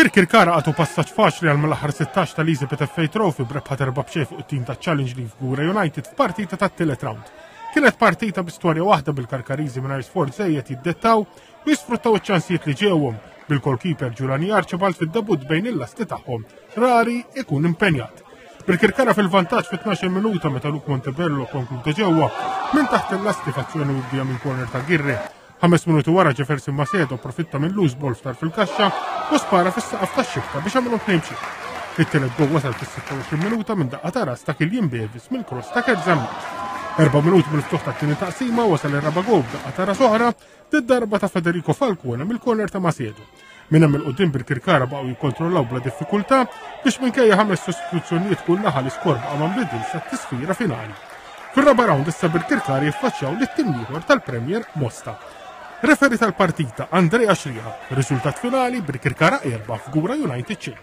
Birkirkara għatu passaġġ faċli għal mal-aħħar 16 tal-Easy FA Trophy b'rebħa terba' b'xejn fuq it-tim ta' Challenge League Fgura United f'partita tat-tielet round. Kienet partita bi storja waħda bil-Karkariżi mingħajr sforz żejjed jiddettaw u jisfruttaw iċ-ċansijiet li ġewhom bil-goalkeeper Giuliani Archibald fid-debut bejn il-lasti tagħhom rari ikun impenjat. Birkirkara fil-vantaġġ fit-12 minuta meta Luke Montebello konkluda ġewwa minn taħt il-lasti f'azzjoni mibdija minn corner ta' Girre. Ħames minuti wara Jefferson Macedo profitta minn loose ball ftar fil-kaxxa u spara fis-saqaf tax-xibka biex għamilhom tnejn b'xejn. It-tielet gol wasal fis-26 minuta minn daqqa ta' ras ta' Killian Bevis mill-cross ta' Kurt Zammit. Erba' minuti mill-ftuħ tat-tieni taqsima wasal ir-raba' gol b'daqqa ta' ras oħra Did-darba ta' Federico Falcone mill-corner ta' Macedo. Minn hemm il-qudiem Birkirkara baqgħu jikkontrollaw bla diffikultà biex minkejja ħames sostituzzjonijiet kull naħa l-iskor baqa' ma nbidilx sat-tisfira finali. Fir-raba' round issa Birkirkara jiffaċċjaw lit-tim ieħor tal-Premier Mosta. Referi tal-partita Andrea Xriħa. Riżultat finali Birkirkara 4 Fgura United xejn.